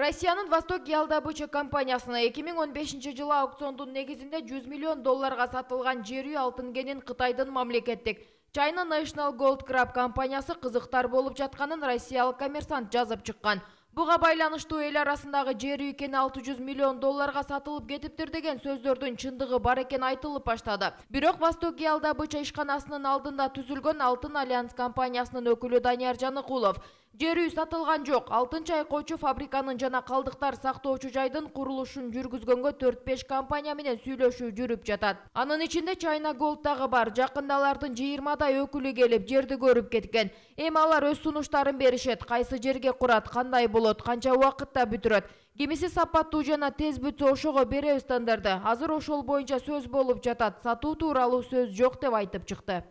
Россиянын Восток Ялдабыча компаниясына 2015-жылы аукциондун негизинде 100 миллион долларга сатылган жер үй алтын кенин Кытайдын мамлекеттик China National Gold Crab компаниясы кызыктар болуп жатканын россиялык Коммерсант жазып чыккан. Буга байланыштуу эл арасындагы жер үй кени 600 миллион долларга сатылып кетиптир деген сөздөрдүн чындыгы бар экен айтылып баштады. Бирок Восток Ялдабыча ишканасынын алдында түзүлгөн Алтын Альянс компаниясынын өкүлү Данияр Жаныкулов жер үй сатылган жок. Алтын чайкоочу фабриканын жана калдыктар сактоочу жайдын курулушун жүргүзгөнгө 4-5 компания менен сүйлөшүү жүрүп жатат. Анын ичинде China Gold дагы бар. Жакында алардын 20дай өкүлү келип жерди көрүп кеткен. Эми алар өз сунуштарын беришет. Кайсы жерге курат, кандай болот, канча убакытта бүтүрөт. Кимиси сапаттуу жана тез бүтсө ошого беребиз тендерди. Азыр ошол боюнча сөз болуп жатат. Сатуу тууралуу сөз жок деп айтып чыкты.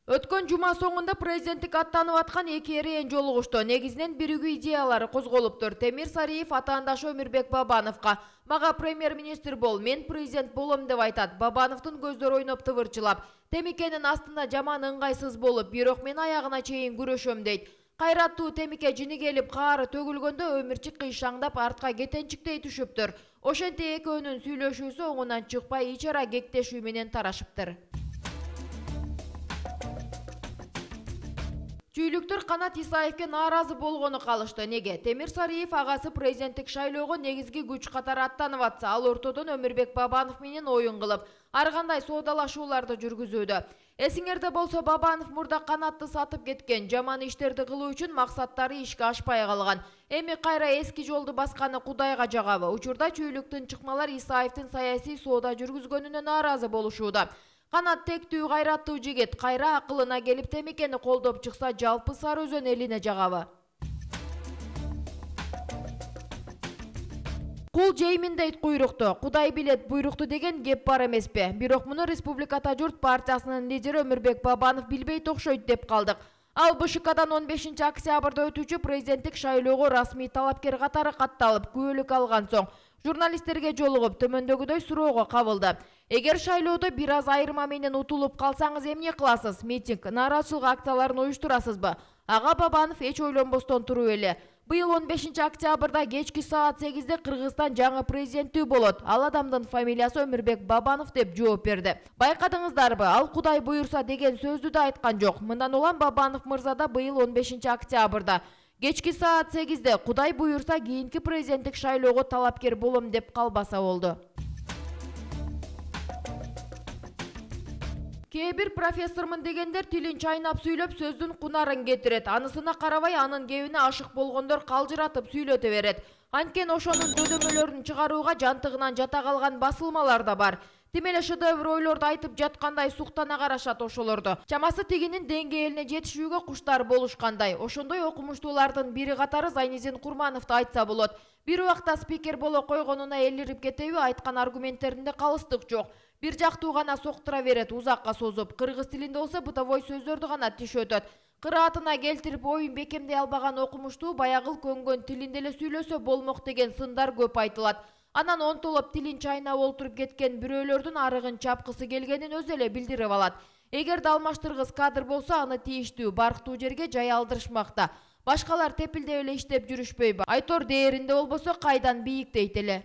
Өткөн жума соңунда президенттик аттанып аткан эки эреен жолугушту. Негизинен биригүү идеялары козголуптур. Темир Сариев атаандашы Өмүрбек Бабановго «Мага премьер-министр бол, мен президент болом» деп айтат. Бабановдун көздөр ойноп тывырчылап, темикенин астында жаман ыңгайсыз болуп, бирок мен аягына чейин күрөшөм дейт. Кайраттуу темике жини келип каары төгүлгөндө өмүрчү кыйшаңдап артка кетенчиктей түшүптүр. Ошентип экөөнүн сүйлөшүүсү оңунан чыкпай ич ара кектешүү менен тарашыптыр. Чүйлүктөр Канат Исаевке нааразы болгону калышты. Неге? Темир Сариев агасы президенттик шайлоого негизги күч катары аттанып атса, ал ортодон Өмүрбек Бабанов менен оюн кылып, ар кандай соодалашууларды жүргүзүүдө. Эсиңерде болсо, Бабанов мурда Канатты сатып кеткен, жаман иштерди кылуу үчүн максаттары ишке ашпай калган. Эми кайра эски жолду басканы Кудайга жагабы. Учурда чүйлүктүн чыкмалар Исаевдин саясий соода жүргүзгөнүнө нааразы болушууда. Канат тектүү кайраттуу жигит, кайра акылына келип темикени колдоп чыкса, жалпы Сары Өзөн элине жагабы. Кул жеймин дейт куйрукту, Кудай билет буйрукту деген кеп бар эмеспи? Бирок муну Республиката журт партиясынын лидери Өмүрбек Бабанов билбейт окшойт деп калдык. Ал БШКдан 15 октябрда өтүүчү президенттик шайлоого расмий талапкер катары катталып, күбөлүк алган соң журналисттерге жолугуп төмөндөгүдөй суроого кабылды. Эгер шайлоодо бир аз айырма менен утулуп калсаңыз эмне кыласыз? Митинг, нааразычылык акцияларын уюштурасызбы? Ага Бабанов эч ойлонбостон туруп эле: быйыл 15 октябрда кечки саат 8-де Кыргызстан жаңы президенттүү болот. Ал адамдын фамилиясы Өмүрбек Бабанов деп жооп берди. Байкадыңыздарбы? Ал Кудай буйрса деген сөздү да айткан жок. Мындан улам Бабанов мырза да быйыл 15 октябрда кечки саат 8-де Кудай буйрса кийинки президенттик шайлоого талапкер болом деп калбаса болду. Кээ бир профессормун дегендер тилин чайнап сүйлөп сөздүн кунарын кетирет. Анысына карабай анын кебине ашык болгондор калжыратып сүйлөтө берет. Анткени ошонун дөдөмөлөрүн чыгарууга жантыгынан жата калган басылмалар да бар. Тим эле шедевр ойлорду айтып жаткандай суктана карашат ошолорду. Чамасы тигинин деңгээлине жетишүүгө куштар болушкандай. Ошондой окумуштуулардын бири катары Зайнизин Курмановду айтса болот. Бир убакта спикер боло койгонуна элирип кетеби, айткан аргументтеринде калыстык жок. Бир жактуу гана соктура берет узакка созуп. Кыргыз тилинде болсо бытовой сөздөрдү гана тишөтөт. Кыраатына келтирип оюн бекемдей албаган окумуштуу баягыл көнгөн тилинде эле сүйлөсө болмок деген сындар көп айтылат. Анан онтолоп тилин чайнап олтуруп кеткен бирөөлөрдүн арыгын чапкысы келгенин өзү эле билдирип алат. Эгерде алмаштыргыс кадр болсо, аны тийиштүү, барктуу жерге жай алдырышмакта. Башкалар тепилдеп эле иштеп жүрүшпөйбү? Айтор дээринде болбосо кайдан бийиктейт эле.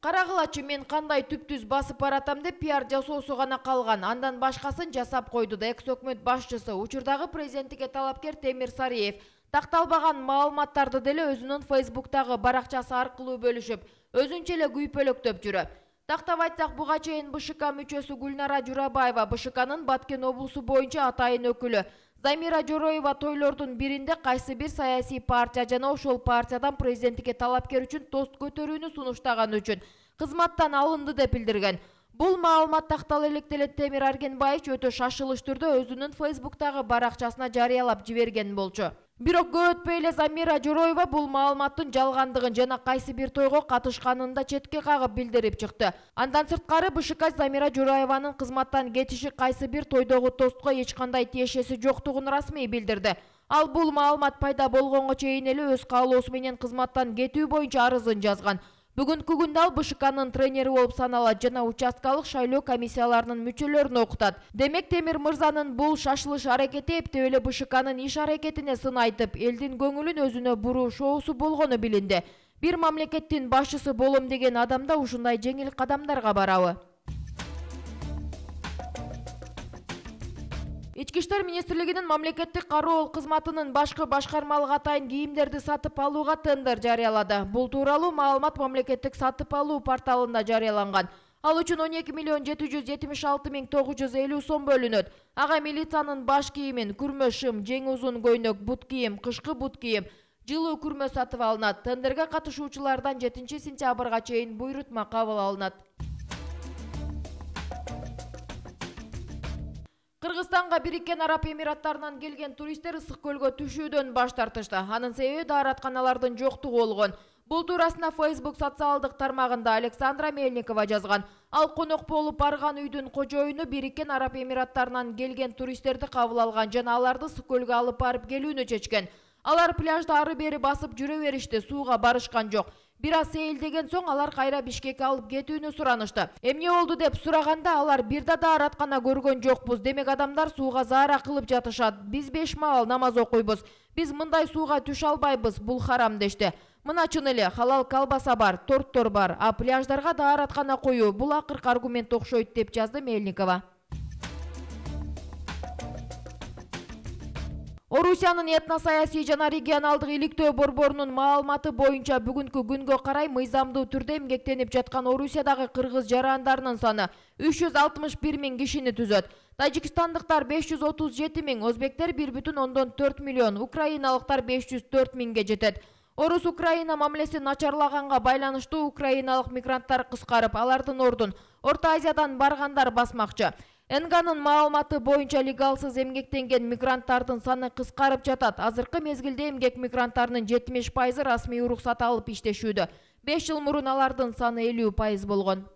Карагылачы, мен кандай түптүз басып баратам деп пиар жасоосу гана калган. Андан башкасын жасап койду да экс-өкмөт башчысы, учурдагы президенттикке талапкер Темир Сариев такталбаган маалыматтарды деле өзүнүн Facebook'тагы баракчасы аркылуу бөлүшүп, өзүнчө эле күйпөлөктөп жүрөт. Тактап айтсак, буга чейин БШК мүчөсү Гүлнара Журабаева, БШКнын Баткен облусу боюнча атайын өкүлү Замира Жороева тойлордун биринде кайсы бир саясий партия жана ошол партиядан президенттикке талапкер үчүн тост көтөрүүнү сунуштаган үчүн кызматтан алынды деп билдирген. Бул маалымат тактала электе Темир Аргенбаевич өтө шашылыш түрдө өзүнүн Facebook'тагы баракчасына жарыялап жиберген болчу. Бирок көп өтпөй эле Замира Жороева бул маалыматтын жалгандыгын жана кайсы бир тойго катышканын да четке кагып билдирип чыкты. Андан сырткары БШК Замира Жороеванын кызматтан кетиши кайсы бир тойдогу тостко эч кандай тиешеси жоктугун расмий билдирди. Ал бул маалымат пайда болгонго чейин эле өз каалоосу менен кызматтан кетүү боюнча арызын жазган. Бүгүнкү күндө ал БШКнын тренери болуп саналат жана участкалык шайлоо комиссияларынын мүчөлөрүн окутат. Демек Темир мырзанын бул шашылыш аракети эптеп эле БШКнын иш аракетине сын айтып, элдин көңүлүн өзүнө буруу шоусу болгону билинди. Бир мамлекеттин башчысы болом деген адамда ушундай жеңил кадамдарга барабы? Ички иштер министрлигинин мамлекеттик кароо кызматынын башкы башкармалык атайын кийимдерди сатып алууга тендер жарыялады. Бул тууралуу маалымат мамлекеттик сатып алуу порталында жарыяланган. Ал үчүн 12.776.950 сом бөлүнөт. Ага милициянын баш кийимин, күрмө шым, жең узун көйнөк, бут кийим, кышкы бут кийим, жылуу күрмө сатып алынат. Тендерге катышуучулардан 7 сентябрга чейин буйрутма кабыл алынат. Кыргызстанга Бириккен Араб Эмираттарынан келген туристтер Ысык көлгө түшүүдөн баш тартышты. Анын себеби дааратканалардын жоктугу болгон. Бул туурасында Facebook социалдык тармагында Александра Мельникова жазган. Ал конок болуп барган үйдүн кожоюну Бириккен Араб Эмираттарынан келген туристтерди кабыл алган жана аларды Ысык көлгө алып барып келүүнү чечкен. Алар пляжда ары бери басып жүрө беришти, сууга барышкан жок. Бир аз сейилдеген соң алар кайра Бишкекке алып кетүүнү суранышты. Эмне болду деп сураганда алар бир да даараткана көргөн жокпуз. Демек адамдар сууга заара кылып жатышат. Биз 5 маал намаз окуйбуз. Биз мындай сууга түшө албайбыз. Бул харам дешти. Мына чын эле халал колбаса бар, торттор бар. А пляждарга даараткана коюу бул акыркы аргумент окшойт деп жазды Мельникова. Орусиянын этно-саясий жана регионалдык иликтөө борборунун маалыматы боюнча бүгүнкү күнгө карай мыйзамдуу түрдө эмгектенип жаткан Орусиядагы кыргыз жарандарынын саны 361 миң кишини түзөт. Тажикстандыктар 537 миң, өзбектер 1,4 миллион, украиналыктар 504 миңге жетет. Орус-Украина мамилеси начарлаганга байланыштуу украиналык мигранттар кыскарып, алардын ордун Орто Азиядан баргандар басмакчы. НГнын маалыматы боюнча легалсыз эмгектенген мигранттардын саны кыскарып жатат. Азыркы мезгилде эмгек мигранттарынын 70% расмий уруксат алып иштешүүдө. 5 жыл мурун алардын саны 50% болгон.